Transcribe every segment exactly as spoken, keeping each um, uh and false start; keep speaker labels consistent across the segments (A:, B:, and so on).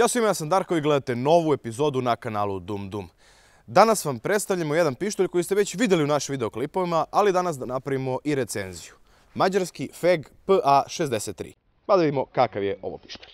A: Ćao svima, ja sam Darko i gledate novu epizodu na kanalu Dum Dum. Danas vam predstavljamo jedan pištolj koji ste već vidjeli u našim videoklipovima, ali danas da napravimo i recenziju. Mađarski F E G P A šezdeset tri. Pa da vidimo kakav je ovo pištolj.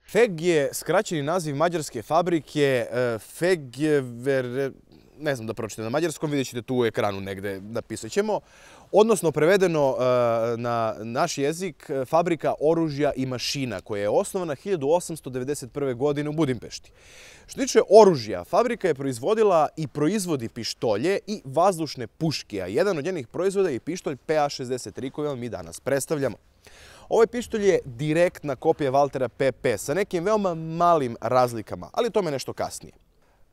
A: F E G je skraćeni naziv mađarske fabrike. F E G je, ne znam da pročitam na mađarskom, vidjet ćete tu u ekranu negde, napisat ćemo. Odnosno, prevedeno na naš jezik, fabrika oružja i mašina, koja je osnovana hiljadu osamsto devedeset prve. godine u Budimpešti. Što tiče oružja, fabrika je proizvodila i proizvodi pištolje i vazdušne puške, a jedan od njenih proizvoda je pištolj P A šezdeset tri koji vam mi danas predstavljamo. Ovaj pištolj je direktna kopija Walthera P P sa nekim veoma malim razlikama, ali tome nešto kasnije.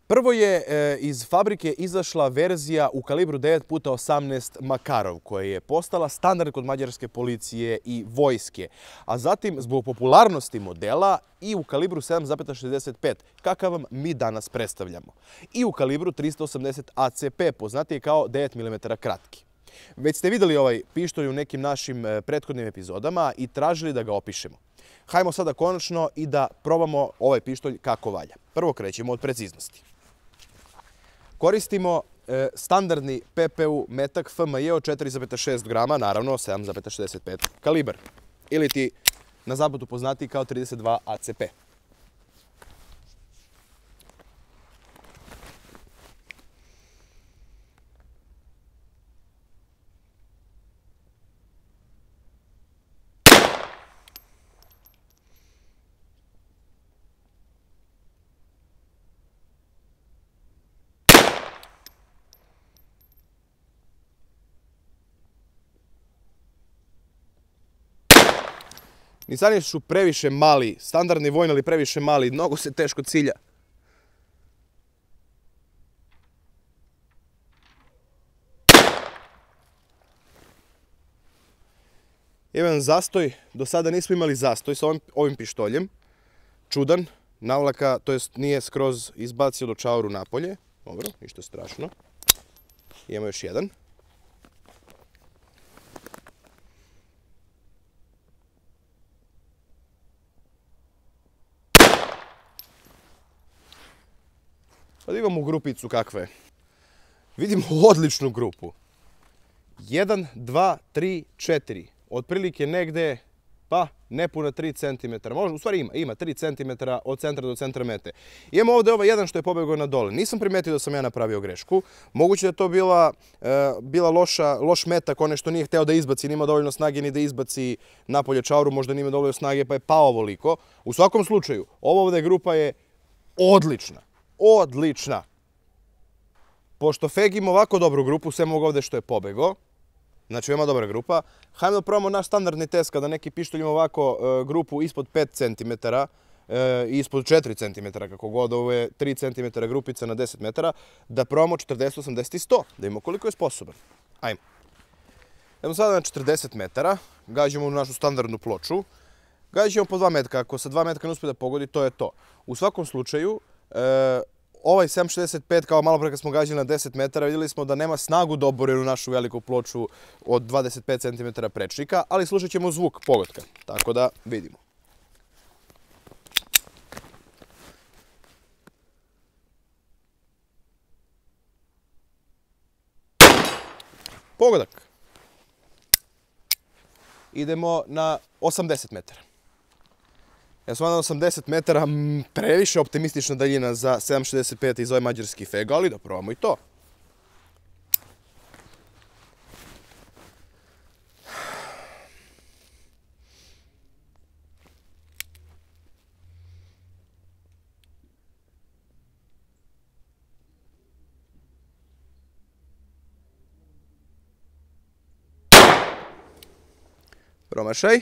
A: Prvo je iz fabrike izašla verzija u kalibru devet puta osamnaest Makarov, koja je postala standard kod mađarske policije i vojske, a zatim zbog popularnosti modela i u kalibru sedam zarez šezdeset pet, kakav vam mi danas predstavljamo, i u kalibru trista osamdeset A C P, poznatiji kao devet milimetara kratki. Već ste vidjeli ovaj pištolj u nekim našim prethodnim epizodama i tražili da ga opišemo. Hajmo sada konačno i da probamo ovaj pištolj kako valja. Prvo krećemo od preciznosti. Koristimo standardni P P U metak F M J od četiri zarez šest grama, naravno sedam zarez šezdeset pet kalibar, ili ti na zapadu poznatiji kao trideset dva A C P. Nisani su previše mali, standardni vojni, ali previše mali, mnogo se teško cilja. Jedan zastoj, do sada nismo imali zastoj sa ovim, ovim pištoljem. Čudan, navlaka, to jest nije skroz izbacio do čauru napolje. Dobro, ništa strašno. Imamo još jedan. Pa da imamo grupicu kakve je. Vidimo odličnu grupu. jedan, dva, tri, četiri. Otprilike negde, pa, nepuna tri centimetra. Možda, u stvari ima, ima tri centimetra od centra do centra mete. Imamo ovdje ovaj jedan što je pobegao na dole. Nisam primetio da sam ja napravio grešku. Moguće da je to bila, bila loša, loš metak, one što nije hteo da izbaci, nima dovoljno snage ni da izbaci napolje čauru, možda nima dovoljno snage pa je pao ovoliko. U svakom slučaju, ova ovdje grupa je odlična. Odlična. Pošto F E G ima ovako dobru grupu, sve mogu ovdje što je pobegao, znači veoma dobra grupa, hajmo da probamo naš standardni test kada neki pištolj ima ovako grupu ispod pet centimetara i ispod četiri centimetra, kako god, ovo je tri centimetra grupica na deset metara, da probamo četrdeset, osamdeset i sto, da imamo koliko je sposoban. Ajmo. Idemo sada na četrdeset metara, gađamo u našu standardnu ploču, gađamo po dva metka, ako sa dva metka ne uspije da pogodi, to je to. U svakom slučaju, ovaj sedam šezdeset pet, kao malo pre kad smo gađali na deset metara, vidjeli smo da nema snagu da obori u našu veliku ploču od dvadeset pet centimetara prečnika, ali slušat ćemo zvuk pogotka, tako da vidimo. Pogodak. Idemo na osamdeset metara. Ja sam na osamdeset metara, previše optimistična daljina za sedam šezdeset pet iz ove mađarski feg, ali da probamo i to. Promašaj.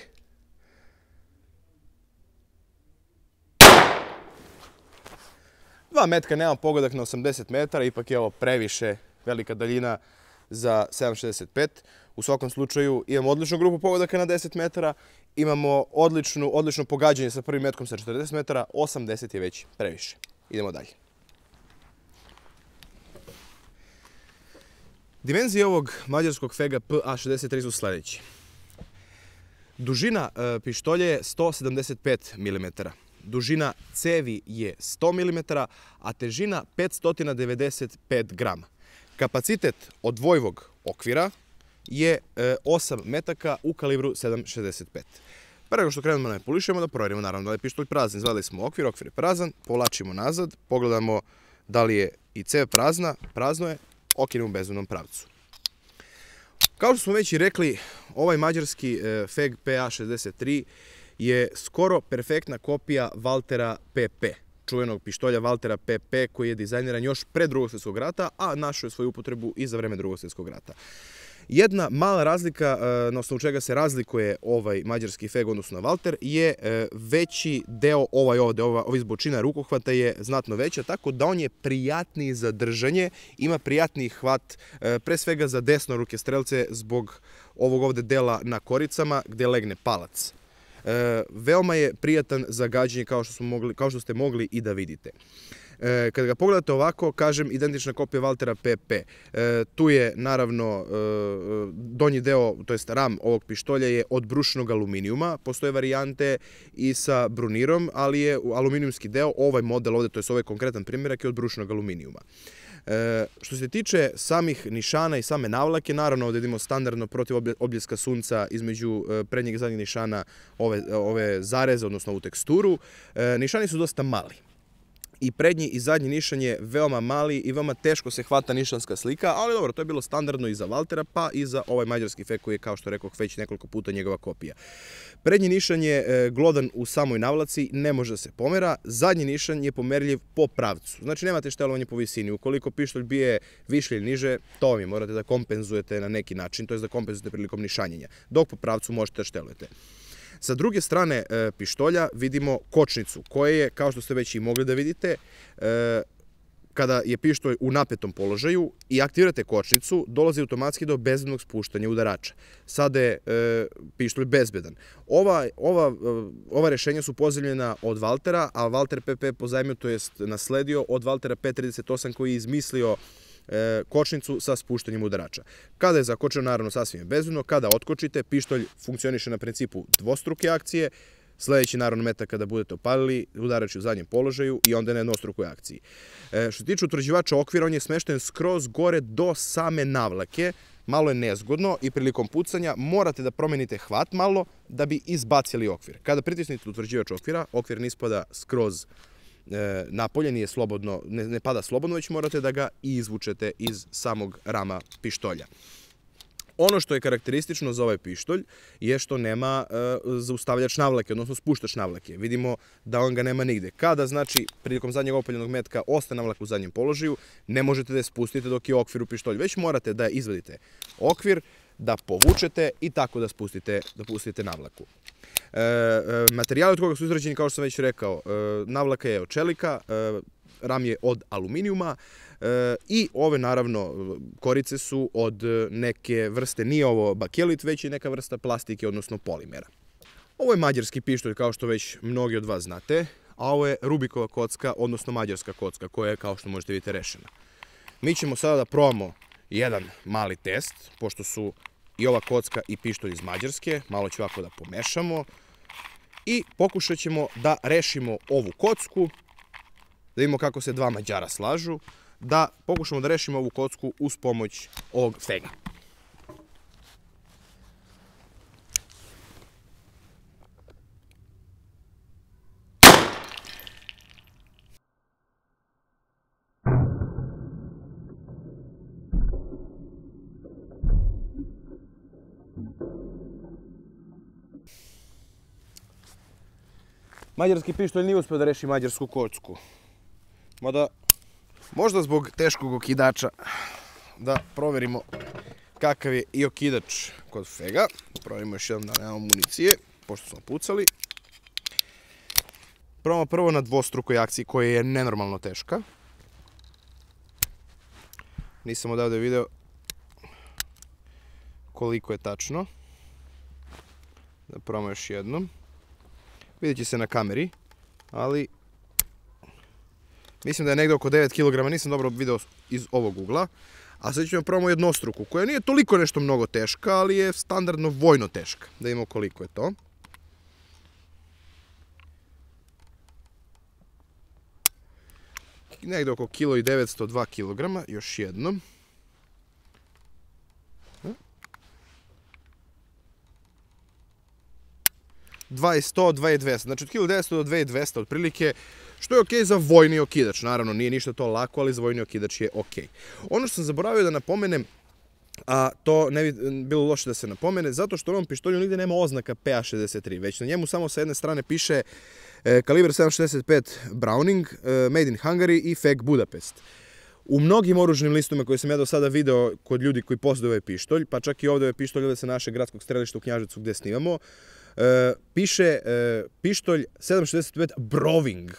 A: Dva metka, nemam pogodak na osamdeset metara, ipak je ovo previše velika daljina za sedam šezdeset pet. U svakom slučaju imamo odličnu grupu pogodaka na deset metara, imamo odličnu, odlično pogađanje sa prvim metkom sa četrdeset metara, osamdeset je već previše. Idemo dalje. Dimenzije ovog mađarskog fega P A šezdeset tri su sljedeći. Dužina e, pištolje je sto sedamdeset pet milimetara. Dužina cevi je sto milimetara, a težina petsto devedeset pet grama. Kapacitet odvojivog okvira je e, osam metaka u kalibru sedam šezdeset pet. Pre nego što krenemo da ne polišemo, da provjerimo naravno da je pištolj prazan. Izvadili smo okvir, okvir je prazan, povlačimo nazad, pogledamo da li je i cev prazna, prazno je, okrenemo u bezbednom pravcu. Kao što smo već i rekli, ovaj mađarski e, feg P A šezdeset tri je skoro perfektna kopija Walthera P P, čuvenog pištolja Walthera P P koji je dizajniran još pre Drugog svjetskog rata, a našao je svoju upotrebu i za vreme Drugog svjetskog rata. Jedna mala razlika na osnovu čega se razlikuje ovaj mađarski feg odnosno na Walther je veći deo, ovaj ovde, ova izbočina rukohvata je znatno veća, tako da on je prijatniji za držanje, ima prijatniji hvat, pre svega za desnoruke strelce zbog ovog ovde dela na koricama gde legne palac. E, veoma je prijatan za gađanje kao što, smo mogli, kao što ste mogli i da vidite. E, kada ga pogledate ovako, kažem, identična kopija Walthera P P. E, tu je naravno e, donji deo, to jest ram ovog pištolja je od brušenog aluminijuma. Postoje varijante i sa brunirom, ali je aluminijumski deo, ovaj model ovde, to jest ovaj konkretan primjerak je od brušenog aluminijuma. E, što se tiče samih nišana i same navlake, naravno ovdje vidimo standardno protiv obljeska sunca između prednjeg i zadnjeg nišana ove, ove zareze, odnosno ovu teksturu. E, nišani su dosta mali. I prednji i zadnji nišan je veoma mali i veoma teško se hvata nišanska slika, ali dobro, to je bilo standardno i za Walthera, pa i za ovaj mađarski feg koji je, kao što rekao, već nekoliko puta njegova kopija. Prednji nišan je glodan u samoj navlaci, ne može da se pomera, zadnji nišan je pomerljiv po pravcu. Znači nemate štelovanje po visini, ukoliko pištolj bije više ili niže, to vam je, morate da kompenzujete na neki način, to je da kompenzujete prilikom nišanjenja, dok po pravcu možete da štelujete. Sa druge strane pištolja vidimo kočnicu koja je, kao što ste već i mogli da vidite, kada je pištolj u napetom položaju i aktivirate kočnicu, dolazi automatski do bezbednog spuštanja udarača. Sada je pištolj bezbedan. Ova, ova, ova rešenja su pozajmljena od Walthera, a Walther P P pozajmio, to jest nasledio od Walthera P trideset osam koji je izmislio kočnicu sa spuštanjem udarača. Kada je zakočeno, naravno sasvim je bezbedno, kada otkočite, pištolj funkcioniše na principu dvostruke akcije, sljedeći naravno metak kada budete opalili, udarač u zadnjem položaju i onda na jednostrukoj akciji. Što se tiče utvrđivača okvira, on je smešten skroz gore do same navlake, malo je nezgodno i prilikom pucanja morate da promenite hvat malo da bi izbacili okvir. Kada pritisnete utvrđivač okvira, okvir ne ispada skroz napolje, nije slobodno, ne, ne pada slobodno, već morate da ga izvučete iz samog rama pištolja. Ono što je karakteristično za ovaj pištolj je što nema e, zaustavljač navlake, odnosno spuštač navlake. Vidimo da on ga nema nigde. Kada, znači, prilikom zadnjeg opaljenog metka ostane navlaka u zadnjem položaju, ne možete da je spustite dok je okvir u pištolju, već morate da izvadite okvir, da povučete i tako da spustite, da pustite navlaku. E, e, materijali od koga su izrađeni, kao što sam već rekao, e, navlaka je od čelika, e, ram je od aluminijuma e, i ove, naravno, korice su od neke vrste, nije ovo bakelit, već je neka vrsta plastike, odnosno polimera. Ovo je mađarski pištolj, kao što već mnogi od vas znate, a ovo je Rubikova kocka, odnosno mađarska kocka, koja je, kao što možete vidjeti, rešena. Mi ćemo sada da probamo jedan mali test, pošto su i ova kocka i pištolj iz Mađarske. Malo ću ovako da pomešamo i pokušat ćemo da rešimo ovu kocku, da vidimo kako se dva Mađara slažu, da pokušamo da rešimo ovu kocku uz pomoć ovog fega. Mađarski pištolj nije uspio da reši mađarsku kocku. Mada, možda zbog teškog okidača, da proverimo kakav je i okidač kod fega. Proverimo još jednom da nemamo municije, pošto smo pucali. Probamo prvo na dvostrukoj akciji koja je nenormalno teška. Nisam odavde video koliko je tačno. Da probamo još jednom. Vidjet će se na kameri, ali mislim da je negdje oko devet kilograma, nisam dobro video iz ovog ugla. A sad ćemo probamo jednostruku, koja nije toliko nešto mnogo teška, ali je standardno vojno teška. Da vidimo koliko je to. Negdje oko kilo i devetsto dva kilograma, još jednom. dvadeset sto, dvadeset dvesta, znači od kilo devetsto do dvadeset dvesta otprilike, što je okej za vojni okidač. Naravno, nije ništa to lako, ali za vojni okidač je okej. Ono što sam zaboravio da napomenem, a to ne bi bilo loše da se napomene, zato što u ovom pištolju nigde nema oznaka P A šezdeset tri, već na njemu samo sa jedne strane piše kalibar sedam šezdeset pet Browning, Made in Hungary i Feg Budapest. U mnogim oružnim listovima koje sam ja do sada video kod ljudi koji posjeduju ovaj pištolj, pa čak i ovdje ovaj pištolj ovdje sa našeg gradskog strelišta u Knjaževcu gdje snimamo, piše pištolj sedam šezdeset pet Browning.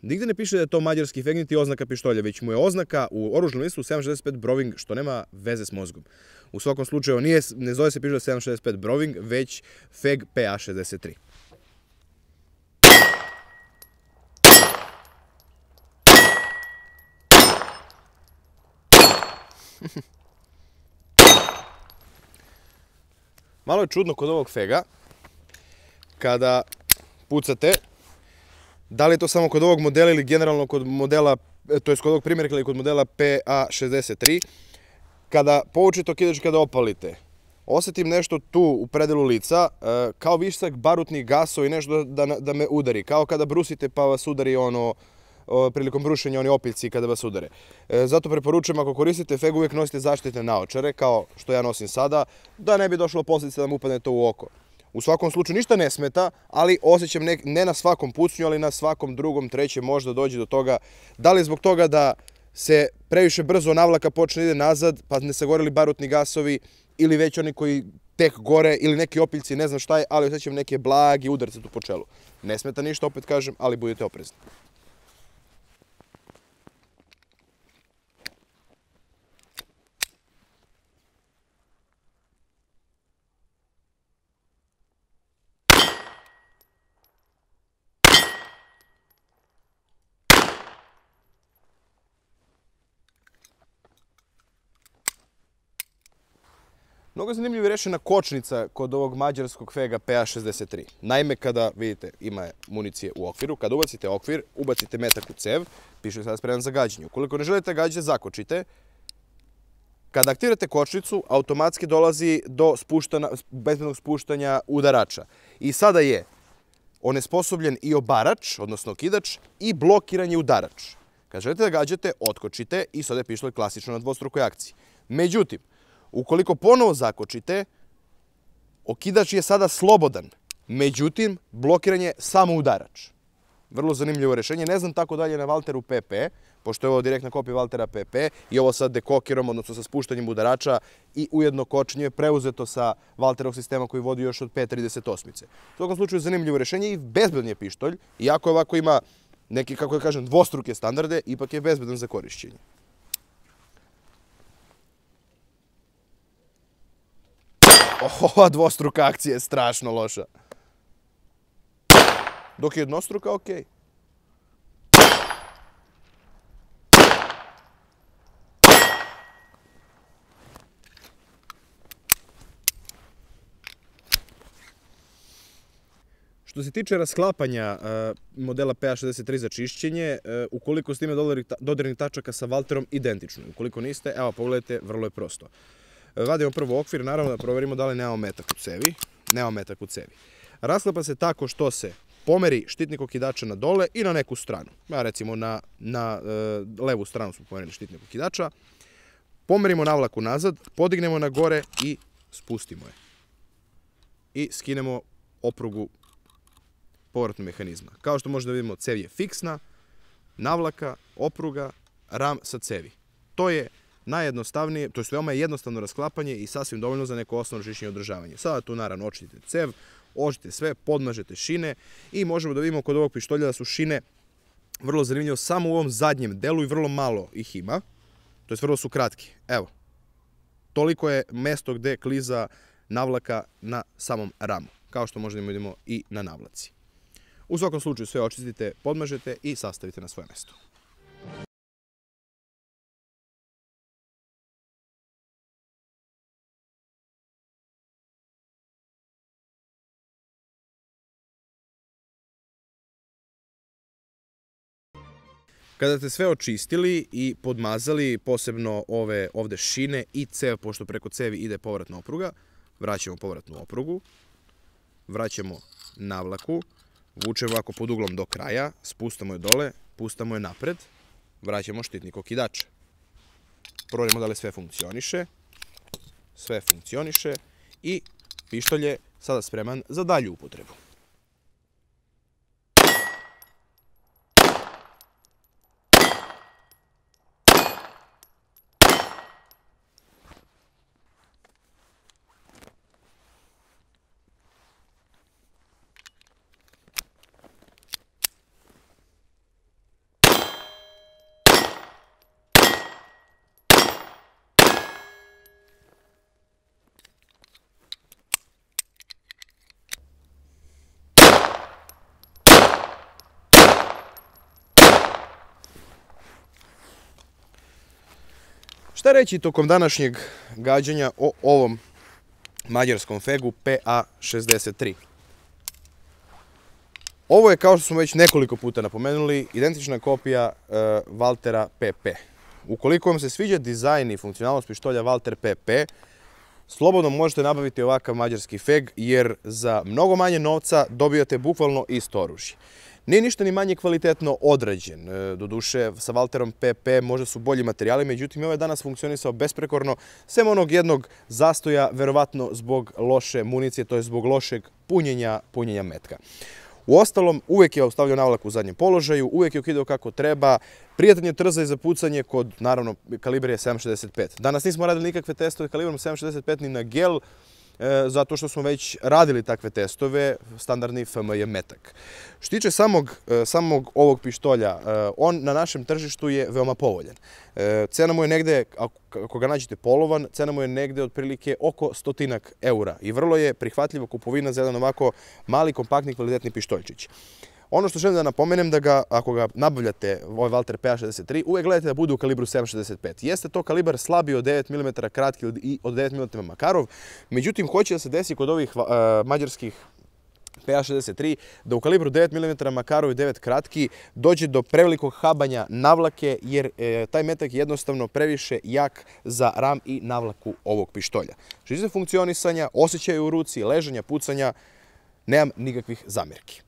A: Nigde ne piše da je to mađarski feg niti oznaka pištolja, već mu je oznaka u oružnom listu sedam šezdeset pet Browning, što nema veze s mozgom. U svakom slučaju nije, ne zove se pištolj sedam šezdeset pet Browning, već Feg P A šezdeset tri. Malo je čudno kod ovog fega, kada pucate, da li je to samo kod ovog modela ili generalno kod modela, to je kod ovog primjerka ili kod modela P A šezdeset tri, kada povučete okidač, kada opalite, osjetim nešto tu u predelu lica, kao višak barutnih gasova i nešto da, da me udari, kao kada brusite pa vas udari ono, prilikom brušenja oni opiljci kada vas udare. Zato preporučujem, ako koristite feg, uvijek nosite zaštitne naočare, kao što ja nosim sada, da ne bi došlo posljedice da mu upadne to u oko. U svakom slučaju ništa ne smeta, ali osjećam ne, ne na svakom pucnju, ali na svakom drugom, trećem možda dođe do toga. Da li je zbog toga da se previše brzo navlaka počne ide nazad, pa ne sagoreli barutni gasovi, ili već oni koji tek gore, ili neki opiljci, ne znam šta je, ali osjećam neke blagi udarce tu po čelu. Ne smeta ništa, opet kažem, ali budite oprezni. Mnogo je zanimljivo rešena kočnica kod ovog mađarskog fega P A šezdeset tri. Naime, kada, vidite, ima municije u okviru, kada ubacite okvir, ubacite metak u cev, piše sada spreman za gađanje. Ukoliko ne želite gađanje, zakočite. Kada aktivirate kočnicu, automatski dolazi do bezbednog spuštanja udarača. I sada je onesposobljen i obarač, odnosno okidač, i blokiran je udarač. Kada želite da gađate, otkočite i sada je pištolj klasično na dvostrukoj akciji. Međutim, ukoliko ponovo zakočite, okidač je sada slobodan, međutim, blokiran je samo udarač. Vrlo zanimljivo rešenje. Ne znam tako dalje na Valteru P P, pošto je ovo direktna kopija Valtera P P i ovo sa dekokerom, odnosno sa spuštanjem udarača i ujedno kočenje je preuzeto sa Valterovog sistema koji vodi još od P trideset osam. U svakom slučaju zanimljivo rešenje i bezbedan je pištolj, iako ovako ima neki, kako ja kažem, dvostruke standarde, ipak je bezbedan za korišćenje. Ova dvostruka akcija je strašno loša. Dok je jednostruka, okej. Što se tiče rasklapanja modela P A šezdeset tri za čišćenje, ukoliko ste imali dodirnih tačaka sa Valterom, identično. Ukoliko niste, evo pogledajte, vrlo je prosto. Vadimo prvo okvir, naravno da proverimo da li nemamo metak u cevi. Nemamo metak u cevi. Rasklapa se tako što se pomeri štitnik okidača na dole i na neku stranu. Recimo na levu stranu smo pomerili štitnik okidača. Pomerimo navlaku nazad, podignemo na gore i spustimo je. I skinemo oprugu povratnog mehanizma. Kao što možete da vidimo, cev je fiksna, navlaka, opruga, ram sa cevi. To je najjednostavnije, to je veoma jednostavno rasklapanje i sasvim dovoljno za neko osnovno čišćenje i održavanje. Sada tu naravno očistite cev, očistite sve, podmažete šine i možemo da vidimo kod ovog pištolja da su šine vrlo zanimljivo samo u ovom zadnjem delu i vrlo malo ih ima. To je vrlo su kratki. Evo, toliko je mesto gde kliza navlaka na samom ramu, kao što možemo da vidimo i na navlaci. U svakom slučaju sve očistite, podmažete i sastavite na svoje mesto. Kada ste sve očistili i podmazali, posebno ove ovde šine i cev, pošto preko cevi ide povratna opruga, vraćamo povratnu oprugu, vraćamo navlaku, vučemo ovako pod uglom do kraja, spustamo je dole, pustamo je napred, vraćamo štitnik okidača. Proverimo da li sve funkcioniše, sve funkcioniše i pištolj je sada spreman za dalju upotrebu. Šta reći tokom današnjeg gađanja o ovom mađarskom fegu P A šezdeset tri? Ovo je, kao što smo već nekoliko puta napomenuli, identična kopija Valtera P P. Ukoliko vam se sviđa dizajn i funkcionalnost pištolja Valter P P, slobodno možete nabaviti ovakav mađarski feg, jer za mnogo manje novca dobijate bukvalno isto oružje. Nije ništa ni manje kvalitetno odrađen. Doduše, sa Valterom P P možda su bolji materijali, međutim, ovaj danas funkcionisao besprekorno, sem onog jednog zastoja, verovatno zbog loše municije, to je zbog lošeg punjenja, punjenja metka. Uostalom, uvek je ostavljao navlak u zadnjem položaju, uvek je ukidao kako treba, prijatan je trzaj za pucanje kod, naravno, kalibar je sedam šezdeset pet. Danas nismo radili nikakve testove kalibrom sedam šezdeset pet ni na gel, zato što smo već radili takve testove, standardni F M J metak. Što tiče samog, samog ovog pištolja, on na našem tržištu je veoma povoljan. Cena mu je negde, ako ga nađete polovan, cena mu je negde otprilike oko stotinak eura i vrlo je prihvatljiva kupovina za jedan ovako mali, kompaktni, kvalitetni pištoljčić. Ono što želim da napomenem da ga, ako ga nabavljate, ovaj Valter P A šezdeset tri, uvek gledajte da bude u kalibru sedam šezdeset pet. Jeste to kalibar slabiji od devet milimetara, kratki i od devet milimetara Makarov, međutim, hoće da se desi kod ovih mađarskih P A šezdeset tri da u kalibru devet milimetara Makarov i devet kratki dođe do prevelikog habanja navlake, jer taj metak je jednostavno previše jak za ram i navlaku ovog pištolja. Što se funkcionisanja, osjećaja u ruci, ležanja, pucanja, nemam nikakvih zamerki.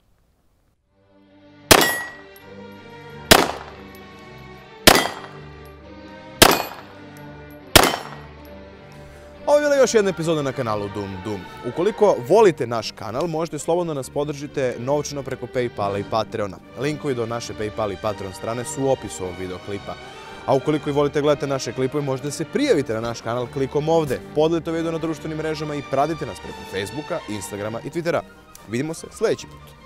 A: Ovo je bila još jedna epizoda na kanalu Dum Dum. Ukoliko volite naš kanal, možete slobodno nas podržite novčano preko Paypala i Patreona. Linkovi do naše Paypal i Patreon strane su u opisu ovog videoklipa. A ukoliko i volite gledati naše klipove, možete se prijavite na naš kanal klikom ovde. Podelite video na društvenim mrežama i pratite nas preko Facebooka, Instagrama i Twittera. Vidimo se sljedeći put.